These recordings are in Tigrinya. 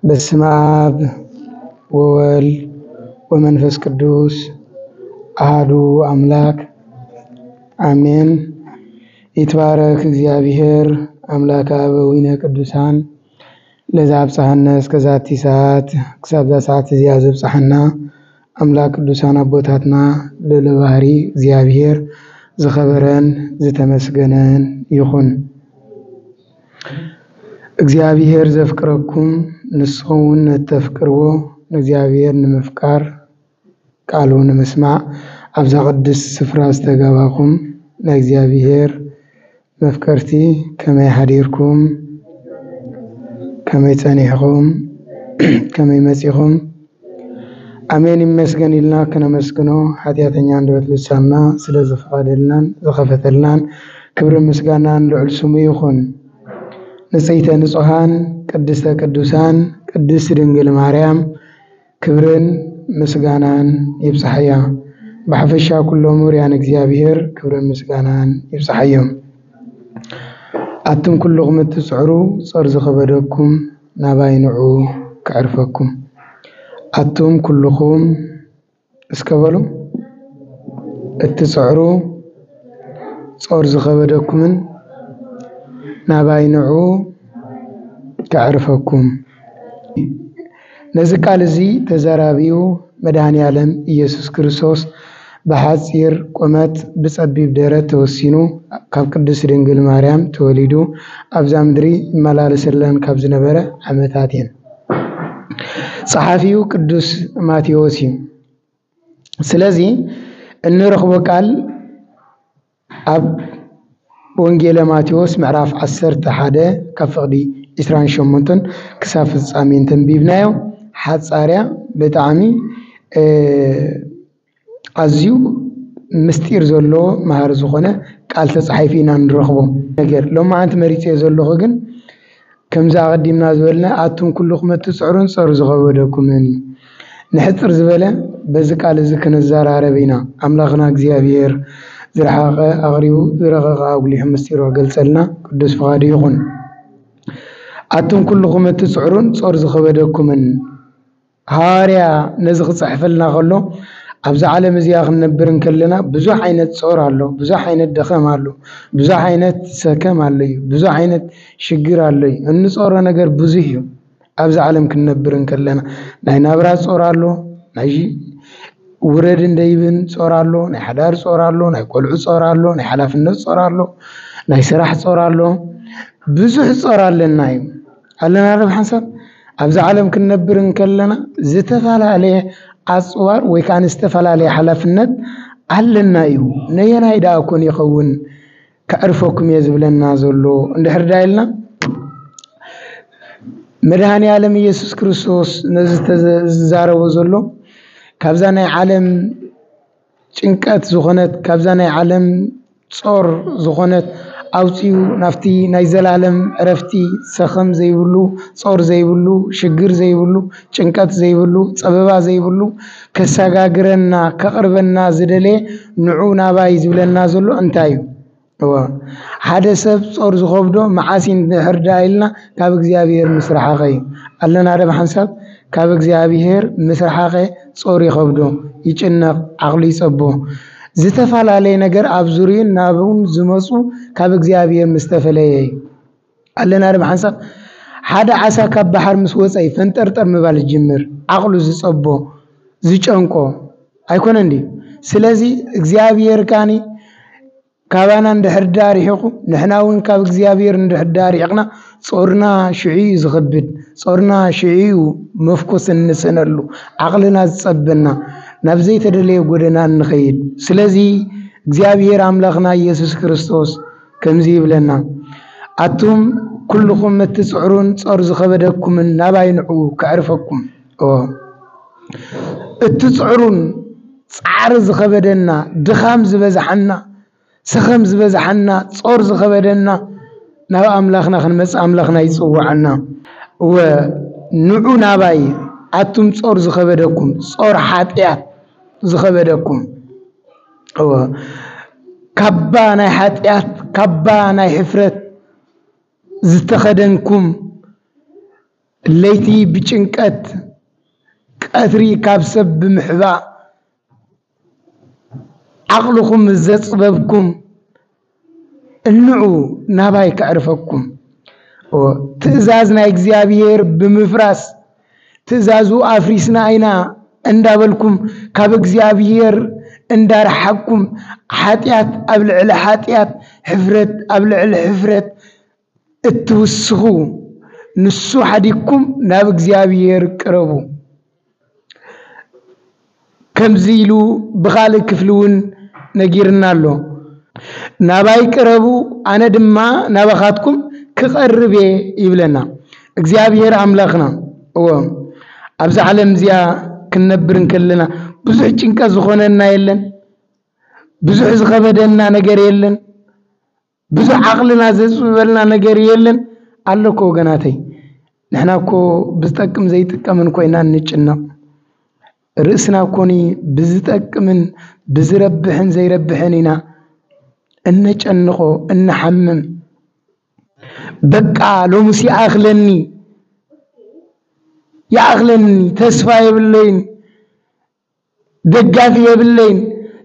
በስመ አብ ወወልድ ወመንፈስ ቅዱስ አሐዱ አምላክ አሜን። ይትባረክ እግዚኣብሔር አምላከ አበዊነ ቅዱሳን ለዛ ኣብጽሐና እስከ ዛቲ ሰዓት፣ ክሳብ እዛ ሰዓት እዚኣ ዘብጽሐና ኣምላክ ቅዱሳን ኣቦታትና ልዑለ ባህሪ እግዚኣብሔር ዝኸበረን ዝተመስገነን ይኹን። እግዚኣብሔር ዘፍቅረኩም ንስኹም እውን ነተፍቅርዎ ንእግዚኣብሔር ንምፍቃር ቃሉ ንምስማዕ ኣብዛ ቅድስቲ ስፍራ ዝተጋባኹም ናይ እግዚኣብሔር መፍቀርቲ ከመይ ሓዲርኩም? ከመይ ጸኒሕኹም? ከመይ መጺኹም? ኣሜን ይመስገን ኢልና ክነመስግኖ ሓጢኣተኛ ኣንደበት ልሳንና ስለ ዝፈቐደልናን ዝኸፈተልናን ክብሪ ምስጋናን ልዑል ስሙ ይኹን። ንጽይተ ንጹሃን ቅድስተ ቅዱሳን ቅድስት ድንግል ማርያም ክብርን ምስጋናን ይብጽሓያ። ብሓፈሻ ኩሎም ውርያን እግዚኣብሔር ክብርን ምስጋናን ይብጽሓዮም። ኣቱም ኩልኹም እትጽዕሩ ጾር ዝኸበደኩም ናባይ ንዑ ከዕርፈኩም። ኣቱም ኩልኹም እስከ በሉ እትጽዕሩ ጾር ዝኸበደኩምን ናባይ ንዑ ከዕርፈኩም። ነዚ ቃል እዚ ተዘራቢኡ መድኃኔ ዓለም ኢየሱስ ክርስቶስ ብሓጺር ቁመት ብጸቢብ ደረት ተወሲኑ ካብ ቅድስት ድንግል ማርያም ተወሊዱ ኣብዛ ምድሪ ይመላለሰለን ካብ ዝነበረ ዓመታት እየን። ጸሓፊኡ ቅዱስ ማቴዎስ እዩ። ስለዚ እንረኽቦ ቃል ኣብ ወንጌለ ማቴዎስ ምዕራፍ ዓሰርተ ሓደ ካብ ፍቕዲ ዕስራን ሸሞንተን ክሳብ ፍጻሜ እንተንቢብናዮ ሓጻርያ ብጣዕሚ፣ እ፣ ኣዝዩ ምስጢር ዘለዎ መሃሪ ዝኾነ ቃል ተጻሒፉ ኢና ንረኽቦ። ነገር ሎማዓንቲ መሪጸዮ ዘለኹ ግን ከምዚ ኣቐዲምና ዝበልና ኣቱም ኩልኹም እትጽዕሩን ጸሩ ዝኸበደኩምን እዩ። ንሕጽር ዝበለ በዚ ቃል እዚ ክንዘራረብ ኢና። ኣምላኽና እግዚኣብሔር ዝረሓቐ ኣቕሪቡ ዝረቐቐ ኣጉሊሑ ምስጢሩ ክገልጸልና ቅዱስ ፍቓዱ ይኹን። ኣቱም ኩልኹም እትጽዕሩን ጾር ዝኸበደኩምን። ሃዋርያ ነዚ ክጽሕፈልና ከሎ ኣብዛ ዓለም እዚኣ ክንነብር እንከለና ብዙሕ ዓይነት ጾር ኣሎ፣ ብዙሕ ዓይነት ደኸም ኣሎ፣ ብዙሕ ዓይነት ሰከም ኣሎ እዩ፣ ብዙሕ ዓይነት ሽግር ኣሎ እዩ። እንጾሮ ነገር ብዙሕ እዩ። ኣብዚ ዓለም ክንነብር እንከለና ናይ ናብራ ጾር ኣሎ፣ ናይ ውረድን ደይብን ጾር ኣሎ፣ ናይ ሓዳር ጾር ኣሎ፣ ናይ ቆልዑ ጾር ኣሎ፣ ናይ ሓላፍነት ጾር ኣሎ፣ ናይ ስራሕ ጾር ኣሎ። ብዙሕ ጾር ኣለና እዩ። ኣለና ዶ ሓንሳብ? ኣብዚ ዓለም ክንነብር እንከለና ዝተፈላለየ ኣጽዋር ወይ ከኣ ዝተፈላለየ ሓላፍነት ኣለና እዩ። ነየናይ ደኣ ኮን ይኸውን ከዕርፈኩም እየ ዝብለና ዘሎ? እንድሕር ደኣ ኢልና መድኃኔ ዓለም ኢየሱስ ክርስቶስ ነዚ ተዘ-፣ ዝዛረቦ ዘሎ ካብዛ ናይ ዓለም ጭንቀት ዝኾነት፣ ካብዛ ናይ ዓለም ጾር ዝኾነት ኣውጺኡ ናብቲ ናይ ዘላለም ዕረፍቲ ሰኸም ዘይብሉ፣ ጾር ዘይብሉ፣ ሽግር ዘይብሉ፣ ጭንቀት ዘይብሉ፣ ጸበባ ዘይብሉ ከሰጋግረና፣ ከቕርበና ዝደለየ ንዑ ናባይ ዝብለና ዘሎ እንታይ እዩ? እወ፣ ሓደ ሰብ ጾር ዝኸብዶ መዓስ እዩ እንድሕር ደኣ ኢልና ካብ እግዚኣብሔር ምስ ረሓቐ እዩ። ኣለና ዶ ብሓንሳብ? ካብ እግዚኣብሔር ምስ ረሓቐ ጾር ይኸብዶ፣ ይጭነቕ፣ ዓቕሉ ይጸቦ። ዝተፈላለየ ነገር ኣብ ዙርዩን ናብኡን ዝመጹ ካብ እግዚኣብሔር ምስ ተፈለየ እዩ። ኣለና ዶ ብሓንሳብ? ሓደ ዓሳ ካብ ባሕር ምስ ወጸ እዩ ፈንጠርጠር ምባል ዝጅምር፣ ዓቕሉ ዝጸቦ፣ ዝጨንቆ ኣይኮነን ድዩ? ስለዚ እግዚኣብሔር ካኒ ካባና እንድሕር ዳ ርሒቑ፣ ንሕና እውን ካብ እግዚኣብሔር እንድሕር ዳ ርሒቕና፣ ጾርና ሽዑ እዩ ዝኸብድ፣ ጾርና ሽዑ እዩ መፍኮስ እንስእነሉ፣ ዓቕልና ዝጸበና፣ ናብ ዘይተደለየ ጎደና እንኸይድ። ስለዚ እግዚኣብሔር ኣምላኽና ኢየሱስ ክርስቶስ ከምዚ ይብለና፣ ኣቱም ኩልኹም እትጽዕሩን ጾር ዝኸበደኩምን ናባይ ንዑ ከዕርፈኩም። እወ፣ እትጽዕሩን ጻዕሪ ዝኸበደና፣ ድኻም ዝበዝሓና፣ ሰኸም ዝበዝሓና፣ ጾር ዝኸበደና፣ ናብ ኣምላኽና ክንመጽእ ኣምላኽና ይጽውዓና። እወ፣ ንዑ ናባይ ኣቱም ጾር ዝኸበደኩም፣ ጾር ሓጢኣት ዝኸበደኩም፣ እወ፣ ካባ ናይ ሓጢኣት፣ ካባ ናይ ሕፍረት ዝተኸደንኩም፣ ለይቲ ብጭንቀት፣ ቀትሪ ካብ ሰብ ብምሕባእ፣ ዓቕልኹም ዘጽበብኩም፣ እንዑ ናባይ ከዕርፈኩም። እወ፣ ትእዛዝ ናይ እግዚኣብሔር ብምፍራስ፣ ትእዛዙ ኣፍሪስና ኢና እንዳበልኩም፣ ካብ እግዚኣብሔር እንዳረሓቅኩም፣ ሓጢኣት ኣብ ልዕሊ ሓጢኣት፣ ሕፍረት ኣብ ልዕሊ ሕፍረት እትውስኹ፣ ንሱ ሓዲግኩም ናብ እግዚኣብሔር ቅረቡ። ከምዚ ኢሉ ብኻልእ ክፍሊ እውን ነጊርና ኣሎ። "ናባይ ቅረቡ፣ ኣነ ድማ ናባኻትኩም ክቐርብ እየ" ይብለና እግዚኣብሔር ኣምላኽና። እዎ፣ ኣብዛ ዓለም እዚኣ ክንነብር እንከለና ብዙሕ ጭንቀት ዝኾነና የለን፣ ብዙሕ ዝኸበደና ነገር የለን፣ ብዙሕ ዓቕልና ዘጽብበልና ነገር የለን። ኣሎ እኮ ወገናተይ፣ ንሕና እኮ ብዝጠቅም ዘይጥቀምን ኮይና እንጭነቕ። ርእስና እኮኒ ብዝጠቅምን ብዝረብሕን ዘይረብሕን ኢና እነጨንቖ፣ እንሓምም። በቃ ሎምስ ይኣኽለኒ፣ ይኣኽለኒ፣ ተስፋ የብለይን፣ ደጋፊ የብለይን፣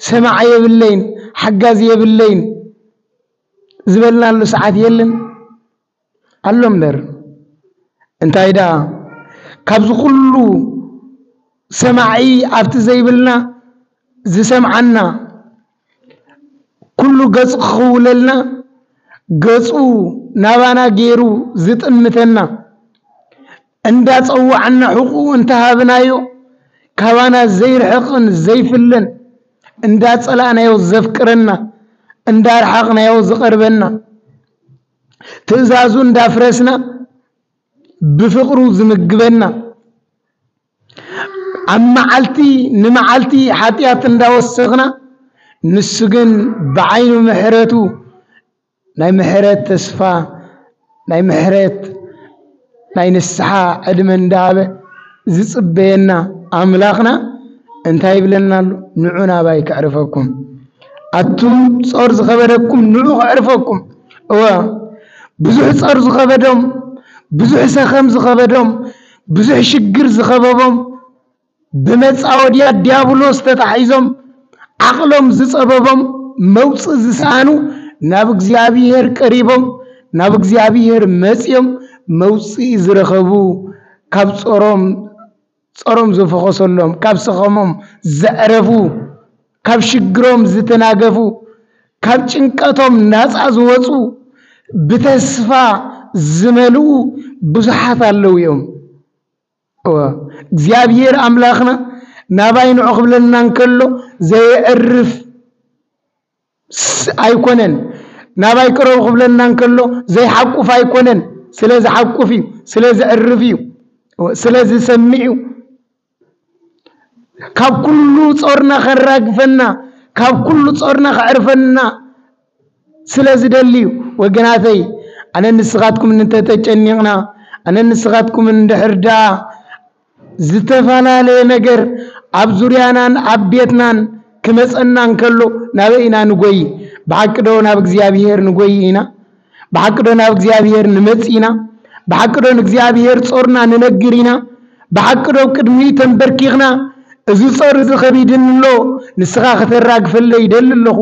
ሰማዒ የብለይን፣ ሓጋዚ የብለይን ዝበልናሉ ሰዓት የለን? ኣሎ እምበር። እንታይ ደኣ፣ ካብዚ ኩሉ ሰማዒ ኣብቲ ዘይብልና ዝሰምዓና፣ ኩሉ ገጹ ክኽውለልና፣ ገጹ ናባና ገይሩ ዝጥምተና፣ እንዳጸዋዕና ሕቁኡ እንተሃብናዮ፣ ካባና ዘይርሕቕን ዘይፍለን፣ እንዳጸላእናዮ ዘፍቅረና፣ እንዳረሓቕናዮ ዝቐርበና፣ ትእዛዙ እንዳፍረስና ብፍቕሩ ዝምግበና፣ ኣብ መዓልቲ ንመዓልቲ ሓጢኣት እንዳወሰኽና፣ ንሱ ግን ብዓይኑ ምሕረቱ ናይ ምሕረት ተስፋ፣ ናይ ምሕረት ናይ ንስሓ ዕድመ እንዳሃበ ዝጽበየና ኣምላኽና እንታይ ይብለና ኣሎ? "ንዑ ናባይ ከዕርፈኩም፣ ኣቱም ጾር ዝኸበደኩም ንዑ ከዕርፈኩም።" እወ፣ ብዙሕ ጾር ዝኸበዶም፣ ብዙሕ ሰኸም ዝኸበዶም፣ ብዙሕ ሽግር ዝኸበቦም፣ ብመጻወድያ ዲያብሎስ ተታሒዞም፣ ዓቕሎም ዝጸበቦም፣ መውጽኢ ዝሰኣኑ፣ ናብ እግዚኣብሔር ቀሪቦም፣ ናብ እግዚኣብሔር መጺኦም፣ መውጽኢ ዝረኸቡ፣ ካብ ጾሮም፣ ጾሮም ዝፈኾሰሎም፣ ካብ ሰኸሞም ዘዕረፉ፣ ካብ ሽግሮም ዝተናገፉ፣ ካብ ጭንቀቶም ናጻ ዝወጹ፣ ብተስፋ ዝመልኡ ብዙሓት ኣለዉ እዮም። እወ፣ እግዚኣብሔር ኣምላኽና ናባይ ንዑ ክብለና እንከሎ ዘየዕርፍ ስ-፣ ኣይኮነን። ናባይ ቅረቡ ክብለና እንከሎ ዘይሓቁፍ ኣይኮነን። ስለ ዝሓቁፍ እዩ፣ ስለ ዘዕርፍ እዩ፣ እወ፣ ስለ ዝሰምዕ እዩ። ካብ ኩሉ ጾርና ከራግፈና፣ ካብ ኩሉ ጾርና ከዕርፈና ስለ ዝደሊ እዩ። ወገናተይ፣ ኣነ ንስኻትኩም እንተተጨኒቕና፣ ኣነ ንስኻትኩም እንድሕር ደኣ ዝተፈላለየ ነገር ኣብ ዙርያናን ኣብ ቤትናን ክመጸና እንከሎ፣ ናበይ ኢና ንጎይ? ብሓቂ ዶ ናብ እግዚኣብሔር ንጎይ ኢና? ብሓቂ ዶ ናብ እግዚኣብሔር ንመጽእ ኢና? ብሓቂ ዶ ንእግዚኣብሔር ጾርና ንነግር ኢና? ብሓቂ ዶ ኣብ ቅድሚኡ ተንበርኪኽና፣ "እዚ ጾር እዚ ከቢድኒ ኣሎ፣ ንስኻ ከተራግፈለይ ይደሊ ኣለኹ።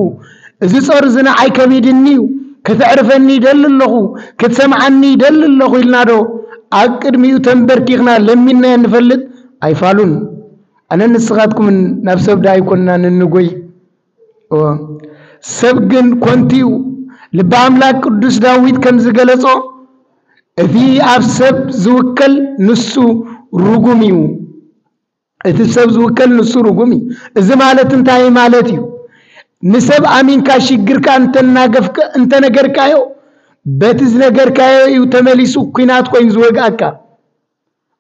እዚ ጾር እዚ ንዓይ ከቢድኒ እዩ፣ ከተዕርፈኒ ይደሊ ኣለኹ፣ ክትሰምዓኒ ይደሊ ኣለኹ" ኢልና ዶ ኣብ ቅድሚኡ ተንበርኪኽና ለሚንናዮ ንፈልጥ? ኣይፋሉን። ኣነ ንስኻትኩምን ናብ ሰብ ዶ ኣይኮንናን እንጎይ? እወ፣ ሰብ ግን ኮንቱ እዩ። ልበ ኣምላክ ቅዱስ ዳዊት ከም ዝገለጾ፣ "እቲ ኣብ ሰብ ዝውከል ንሱ ርጉም እዩ።" እቲ ሰብ ዝውከል ንሱ ርጉም እዩ። እዚ ማለት እንታይ ማለት እዩ? ንሰብ ኣሚንካ ሽግርካ እንተናገፍከ-፣ እንተነገርካዮ፣ በቲ ዝነገርካዮ እዩ ተመሊሱ ኲናት ኮይኑ ዝወግኣካ።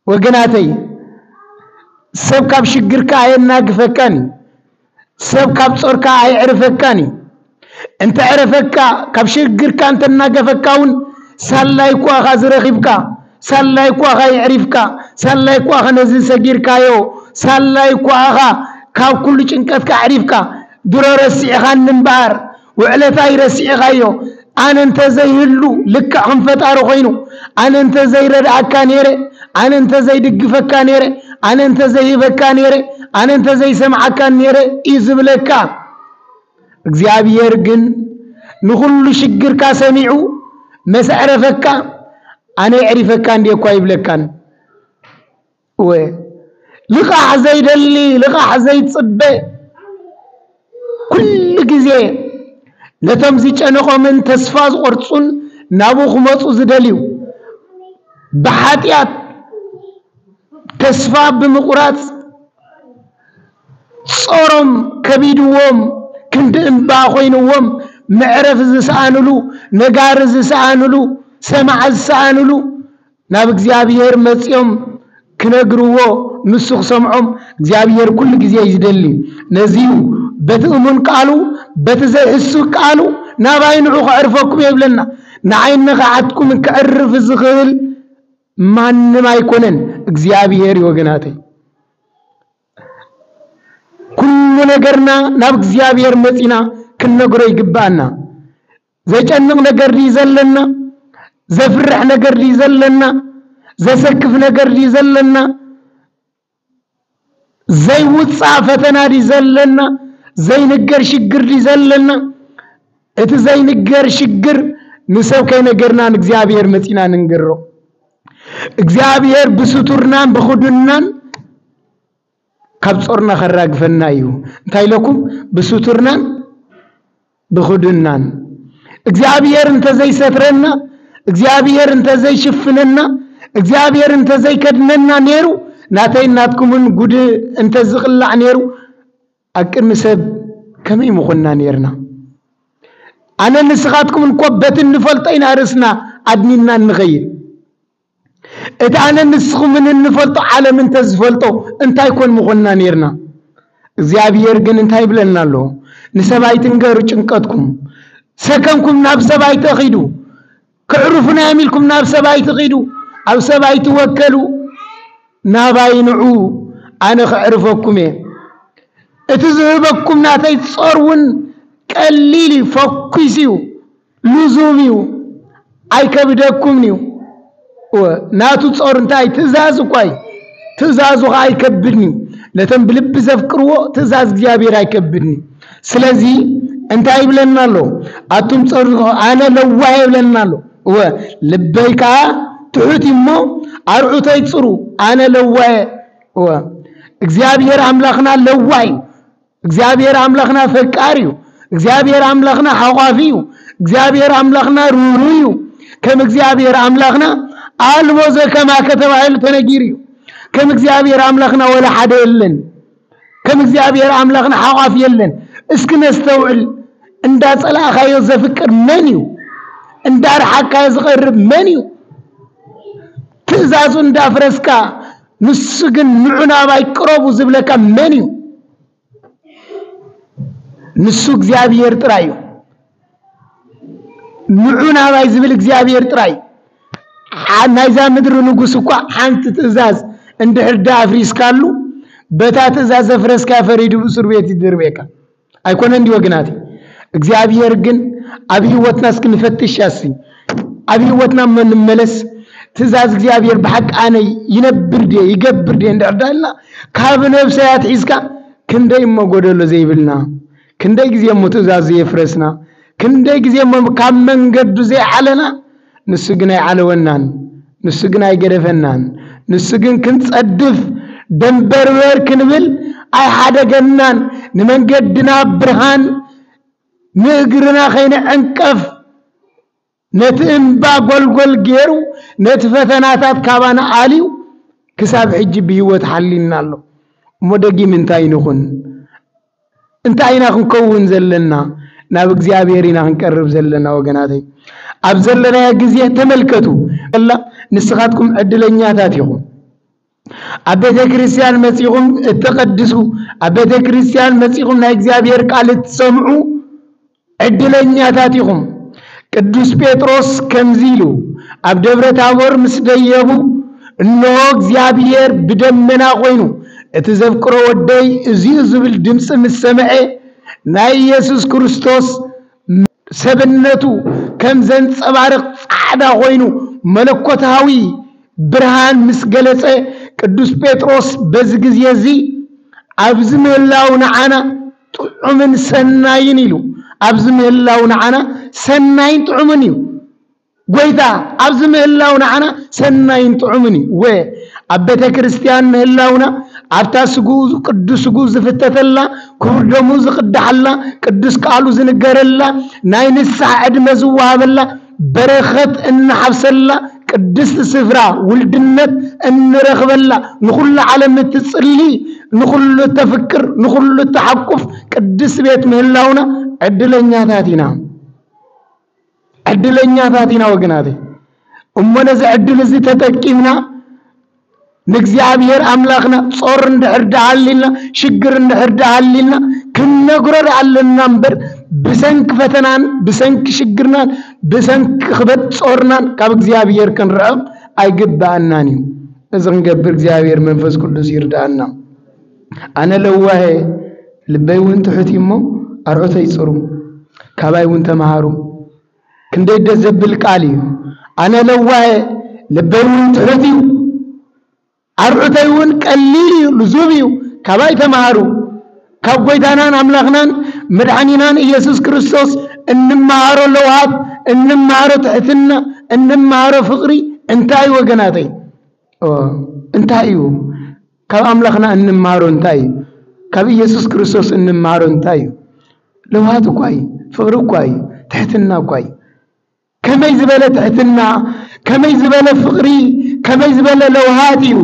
ወገናተይ፣ ሰብ ካብ ሽግርካ ኣየናግፈካን እዩ። ሰብ ካብ ጾርካ ኣየዕርፈካን እዩ። እንተዕረፈካ፣ ካብ ሽግርካ እንተናገፈካ እውን፣ ሳላይ እኳ ኢኻ ዝረኺብካ፣ ሳላይ እኳ ኢኻ የዕሪፍካ፣ ሳላይ እኳ ኢኻ ነዚ ሰጊርካዮ፣ ሳላይ እኳ ኢኻ ካብ ኩሉ ጭንቀትካ ኣዕሪፍካ፣ ድሮ ረሲዕኻኒ እምበኣር፣ ውዕለታይ ረሲዕኻዮ። ኣነ እንተ ዘይህሉ ልክዕ ከም ፈጣሪ ኮይኑ፣ ኣነ እንተ ዘይረድኣካ ነይረ፣ ኣነ እንተ ዘይድግፈካ ነይረ፣ ኣነ እንተ ዘይህበካ ነይረ፣ ኣነ እንተ ዘይሰምዓካ ነይረ እዩ ዝብለካ። እግዚኣብሔር ግን ንኹሉ ሽግርካ ሰሚዑ መስ ኣዕረፈካ፣ ኣነ የዕሪፈካ እንዴ እኳ ይብለካን። እወ፣ ልቓሕ ዘይደሊ፣ ልቓሕ ዘይጽበ፣ ኩሉ ግዜ ነቶም ዝጨነቖምን ተስፋ ዝቖርጹን ናብኡ ክመጹ ዝደልዩ፣ ብሓጢኣት ተስፋ ብምቑራጽ ጾሮም ከቢድዎም፣ ክንዲ እምባ ኮይንዎም፣ መዕረፊ ዝሰኣንሉ፣ ነጋሪ ዝሰኣንሉ፣ ሰማዒ ዝሰኣንሉ፣ ናብ እግዚኣብሔር መጺኦም ክነግርዎ፣ ንሱ ክሰምዖም እግዚኣብሔር ኩሉ ግዜ እዩ ዝደሊ። ነዚ እዩ በቲ እሙን ቃሉ፣ በቲ ዘይሕሱ ቃሉ ናባይ ንዑ ከዕርፈኩም እየ ይብለና። ንዓይ ንኽሓትኩም ከዕርፍ ዝኽእል ማንም ኣይኮነን፣ እግዚኣብሔር እዩ ወገናተይ። ኩሉ ነገርና ናብ እግዚኣብሔር መጺና ክንነግሮ ይግብኣና። ዘጨንቕ ነገር ድዩ ዘለና? ዘፍርሕ ነገር ድዩ ዘለና? ዘሰክፍ ነገር ድዩ ዘለና? ዘይውጻእ ፈተና ድዩ ዘለና? ዘይንገር ሽግር ድዩ ዘለና? እቲ ዘይንገር ሽግር ንሰብ ከይነገርና ንእግዚኣብሔር መጺና ንንገሮ። እግዚኣብሔር ብስቱርናን ብኽዱንናን ካብ ጾርና ከራግፈና እዩ። እንታይ ኢለኩም? ብስቱርናን ብኽዱንናን። እግዚኣብሔር እንተዘይሰትረና፣ እግዚኣብሔር እንተዘይሽፍነና፣ እግዚኣብሔር እንተዘይከድነና ነይሩ፣ ናተይ ናትኩምን ጉድ እንተዝቕላዕ ነይሩ፣ ኣብ ቅድሚ ሰብ ከመይ ምኾንና ነይርና? ኣነ ንስኻትኩምን እኮ በቲ እንፈልጦ ኢና ርእስና ኣድኒና እንኸይድ። እቲ ኣነ ንስኹምን እንፈልጦ ዓለም እንተዝፈልጦ እንታይ ኮን ምኾንና ነይርና? እግዚኣብሔር ግን እንታይ ይብለና ኣሎ? ንሰብ ኣይትንገሩ ጭንቀትኩም፣ ሰከምኩም ናብ ሰብ ኣይትኺዱ፣ ክዕርፉና እዮም ኢልኩም ናብ ሰብ ኣይትኺዱ፣ ኣብ ሰብ ኣይትወከሉ፣ ናባይ ንዑ፣ ኣነ ከዕርፈኩም እየ። እቲ ዝህበኩም ናተይ ጾር እውን ቀሊል እዩ፣ ፈኲስ እዩ፣ ልዙብ እዩ፣ ኣይከብደኩምን እዩ። እወ፣ ናቱ ጾር እንታይ? ትእዛዝ እኳ እዩ። ትእዛዙ ኸዓ ኣይከብድን እዩ። ነቶም ብልቢ ዘፍቅርዎ ትእዛዝ እግዚኣብሔር ኣይከብድን እዩ። ስለዚ እንታይ ይብለና ኣሎ? ኣቱም ጾር፣ ኣነ ለዋህ ይብለና ኣሎ። እወ፣ ልበይ ከኣ ትሑት እዩ እሞ ኣርዑተይ ጽሩ፣ ኣነ ለዋህ እየ። እወ፣ እግዚኣብሔር ኣምላኽና ለዋህ እዩ። እግዚኣብሔር ኣምላኽና ፈቃሪ እዩ። እግዚኣብሔር ኣምላኽና ሓቋፊ እዩ። እግዚኣብሔር ኣምላኽና ርህሩህ እዩ። ከም እግዚኣብሔር ኣምላኽና ኣልቦ ዘከማከ ተባሂሉ ተነጊሩ እዩ። ከም እግዚኣብሔር ኣምላኽና ወላ ሓደ የለን። ከም እግዚኣብሔር ኣምላኽና ሓቋፊ የለን። እስኪ ነስተውዕል። እንዳ ጸላእኻዮ ዘፍቅር መን እዩ? እንዳ ረሓቅካዮ ዝቐርብ መን እዩ? ትእዛዙ እንዳፍረስካ ንሱ ግን ንዑ ናባይ ቅረቡ ዝብለካ መን እዩ? ንሱ እግዚኣብሔር ጥራይ እዩ። ንዑ ናባይ ዝብል እግዚኣብሔር ጥራይ። ዓ-፣ ናይዛ ምድሪ ንጉስ እኳ ሓንቲ ትእዛዝ እንድሕር ደኣ ኣፍሪስካሉ፣ በታ ትእዛዝ ዘፍረስካ ፈሪዱ ብእሱር ቤት ይድርቤካ። ኣይኮነን ድዩ ወገናት? እግዚኣብሔር ግን ኣብ ህይወትና እስኪ ንፈትሽ ያሲ፣ ኣብ ህይወትና እሞ ንመለስ። ትእዛዝ እግዚኣብሔር ብሓቂ ኣነ ይነብር ድየ፣ ይገብር ድየ እንድሕር ዳልና፣ ካብ ነብሰይ ኣትሒዝካ ክንደይ እሞ ጎደሎ ዘይብልና፣ ክንደይ ግዜ እሞ ትእዛዝ ዘየፍረስና፣ ክንደይ ግዜ እሞ ካብ መንገዱ ዘይዓለና፣ ንሱ ግን ኣይዓለወናን፣ ንሱ ግን ኣይገደፈናን። ንሱ ግን ክንጸድፍ ደንበርበር ክንብል ኣይሓደገናን። ንመንገድና ብርሃን፣ ንእግርና ከይንዕንቀፍ ነቲ እምባ ጎልጎል ገይሩ፣ ነቲ ፈተናታት ካባና ኣልዩ፣ ክሳብ ሕጂ ብህይወት ሓሊና ኣሎ። እሞ ደጊም እንታይ ንኹን? እንታይ ኢና ክንከውን ዘለና? ናብ እግዚኣብሔር ኢና ክንቀርብ ዘለና ወገናተይ። ኣብ ዘለናዮ ግዜ ተመልከቱ። ኣላ ንስኻትኩም ዕድለኛታት ኢኹም። ኣብ ቤተ ክርስቲያን መጺኹም እትቐድሱ፣ ኣብ ቤተ ክርስቲያን መጺኹም ናይ እግዚኣብሔር ቃል እትሰምዑ ዕድለኛታት ኢኹም። ቅዱስ ጴጥሮስ ከምዚ ኢሉ፣ ኣብ ደብረ ታቦር ምስ ደየቡ፣ እንሆ እግዚኣብሔር ብደመና ኮይኑ፣ እቲ ዘፍቅሮ ወደይ እዚኡ ዝብል ድምፂ ምስ ሰምዐ፣ ናይ ኢየሱስ ክርስቶስ ሰብነቱ ከም ዘንጸባርቕ ጻዕዳ ኮይኑ መለኮታዊ ብርሃን ምስ ገለጸ፣ ቅዱስ ጴጥሮስ በዚ ግዜ እዚ፣ "ኣብዚ ምህላው ንዓና ጥዑምን ሰናይን" ኢሉ። ኣብዚ ምህላው ንዓና ሰናይን ጥዑምን እዩ። ጎይታ ኣብዚ ምህላው ንዓና ሰናይን ጥዑምን እዩ። ወ ኣብ ቤተ ክርስቲያን ምህላውና፣ ኣብታ ስግኡ ቅዱስ ስግኡ ዝፍተተላ፣ ክቡር ደሙ ዝቕዳሓላ፣ ቅዱስ ቃሉ ዝንገረላ፣ ናይ ንስሓ ዕድመ ዝወሃበላ፣ በረኸት እንሓፍሰላ፣ ቅድስቲ ስፍራ ውልድነት እንረኽበላ፣ ንኹሉ ዓለም እትጽሊ፣ ንኹሉ እተፍቅር፣ ንኹሉ እተሓቁፍ ቅድስቲ ቤት ምህላውና ዕድለኛታት ኢና። ዕድለኛታት ኢና ወገናተይ። እሞ ነዚ ዕድል እዚ ተጠቂምና ንእግዚኣብሔር ኣምላኽና ጾር እንድሕር ደሃሊልና፣ ሽግር እንድሕር ደሃሊልና፣ ክንነግሮ ደኣ ኣለና እምበር፣ ብሰንኪ ፈተናን ብሰንኪ ሽግርናን ብሰንኪ ክበድ ጾርናን ካብ እግዚኣብሔር ክንርሕቕ ኣይግብኣናን እዩ። እዚ ክንገብር እግዚኣብሔር መንፈስ ቅዱስ ይርድኣና። ኣነ ለዋሄ ልበይ እውን ትሑት እዩ እሞ ኣርዑተይ ጽሩ፣ ካባይ እውን ተምሃሩ። ክንደይ ደስ ዘብል ቃል እዩ። ኣነ ለዋሄ ልበይ እውን ትሑት እዩ፣ ኣርዑተይ እውን ቀሊል እዩ፣ ልዙብ እዩ። ካባይ ተምሃሩ። ካብ ጎይታናን ኣምላኽናን መድሓኒናን ኢየሱስ ክርስቶስ እንመሃሮ ለውሃት፣ እንመሃሮ ትሕትና፣ እንመሃሮ ፍቕሪ እንታይ እዩ ወገናተይ? ኦ፣ እንታይ እዩ? ካብ ኣምላኽና እንመሃሮ እንታይ እዩ? ካብ ኢየሱስ ክርስቶስ እንመሃሮ እንታይ እዩ? ለውሃት እኳ እዩ፣ ፍቕሪ እኳ እዩ፣ ትሕትና እኳ እዩ። ከመይ ዝበለ ትሕትና፣ ከመይ ዝበለ ፍቕሪ፣ ከመይ ዝበለ ለውሃት እዩ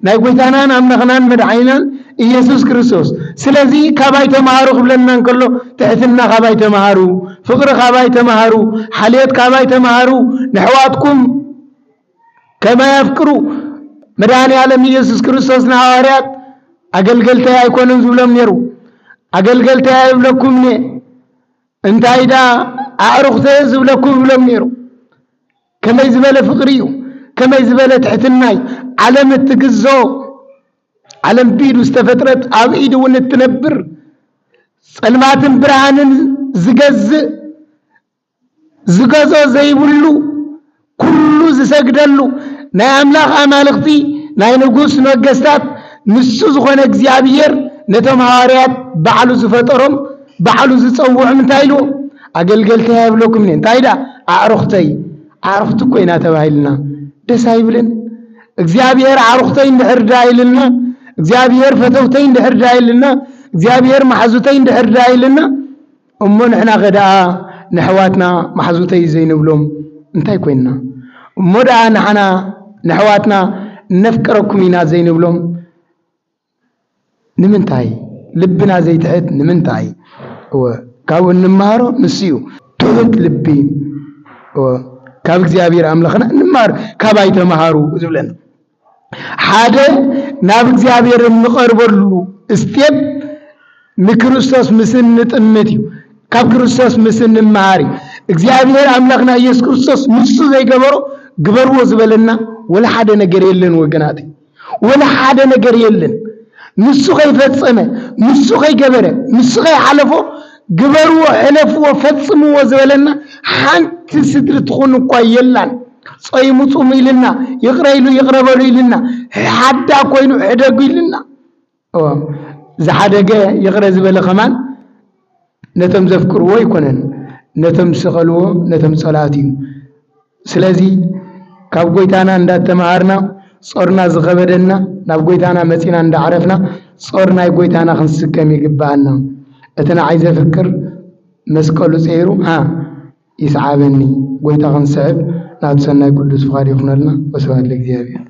ናይ ጎይታናን ኣምላኽናን መድሓኒናን ኢየሱስ ክርስቶስ። ስለዚ ካባይ ተምሃሩ ክብለና እንከሎ፣ ትሕትና ካባይ ተምሃሩ፣ ፍቕሪ ካባይ ተምሃሩ፣ ሓልዮት ካባይ ተምሃሩ፣ ንሕዋትኩም ከመ የፍቅሩ። መድኃኔ ዓለም ኢየሱስ ክርስቶስ ንሃዋርያት ኣገልገልተይ ኣይኮኑን ዝብሎም ነይሩ። ኣገልገልተይ ኣይብለኩምን እየ፣ እንታይ ደኣ ኣዕሩኽተይ እየ ዝብለኩም ይብሎም ነይሩ። ከመይ ዝበለ ፍቕሪ እዩ! ከመይ ዝበለ ትሕትና እዩ! ዓለም እትግዞ፣ ዓለም ብኢዱ ዝተፈጥረት፣ ኣብ ኢዱ እውን እትነብር፣ ጸልማትን ብርሃንን ዝገዝእ፣ ዝገዝኦ ዘይብሉ፣ ኩሉ ዝሰግደሉ፣ ናይ ኣምላኽ ኣማልኽቲ፣ ናይ ንጉስ ነገስታት፣ ንሱ ዝኾነ እግዚኣብሔር ነቶም ሃዋርያት ባዕሉ ዝፈጠሮም፣ ባዕሉ ዝጸውዖም እንታይ ኢልዎ? ኣገልገልተይ ኣይብለኩምን እየ። እንታይ ደኣ? ኣዕሩኽተይ። ኣዕሩኽቲ እኮ ኢና ተባሂልና። ደስ ኣይብልን? እግዚኣብሔር ኣዕሩኽተይ እንድሕር ደኣ ኢልና፣ እግዚኣብሔር ፈተውተይ እንድሕር ደኣ ኢልና፣ እግዚኣብሔር መሓዙተይ እንድሕር ደኣ ኢልና፣ እሞ ንሕናኸ ደኣ ንኣሕዋትና መሓዙተይ ዘይንብሎም እንታይ ኮይንና? እሞ ደኣ ንሓና ንኣሕዋትና እነፍቅረኩም ኢና ዘይንብሎም ንምንታይ? ልብና ዘይትሕት ንምንታይ? እወ፣ ካብኡ እንመሃሮ ንሱ እዩ። ትሑት ልቢ፣ እወ፣ ካብ እግዚኣብሔር ኣምላኽና እንመሃር፣ ካባይ ተምሃሩ ዝብለና። ሓደ ናብ እግዚኣብሔር እንቐርበሉ ስቴፕ ንክርስቶስ ምስ እንጥምት እዩ። ካብ ክርስቶስ ምስ እንመሃር እዩ። እግዚኣብሔር ኣምላኽና ኢየሱስ ክርስቶስ ንሱ ዘይገበሮ ግበርዎ ዝበለና ወላ ሓደ ነገር የለን ወገናት። ወላ ሓደ ነገር የለን። ንሱ ከይፈጸመ፣ ንሱ ከይገበረ፣ ንሱ ከይሓለፎ ግበርዎ፣ ሕለፍዎ፣ ፈጽምዎ ዝበለና ሓንቲ ስድሪ ትኹን እኳ የላን። ጾይሙ ጹሙ ኢልና፣ ይቕረ ኢሉ ይቕረ በሉ ኢልና፣ ሓዳ ኮይኑ ሕደጉ ኢልና። እወ፣ ዝሓደገ ይቕረ ዝበለ ከማን ነቶም ዘፍቅርዎ ኣይኮነን፣ ነቶም ዝሰቐልዎ፣ ነቶም ጸላእቱ እዩ። ስለዚ ካብ ጎይታና እንዳተማሃርና፣ ጾርና ዝኸበደና፣ ናብ ጎይታና መጺና እንዳዕረፍና፣ ጾር ናይ ጎይታና ክንስከም ይግብኣና። እቲ ንዓይ ዘፍቅር መስቀሉ ጸይሩ፣ ሃ፣ ይስዓበኒ። ጎይታ ክንስዕብ ናቱ ሰናይ ቅዱስ ፍቓድ ይኹነልና። ወስብሐት ለእግዚኣብሔር።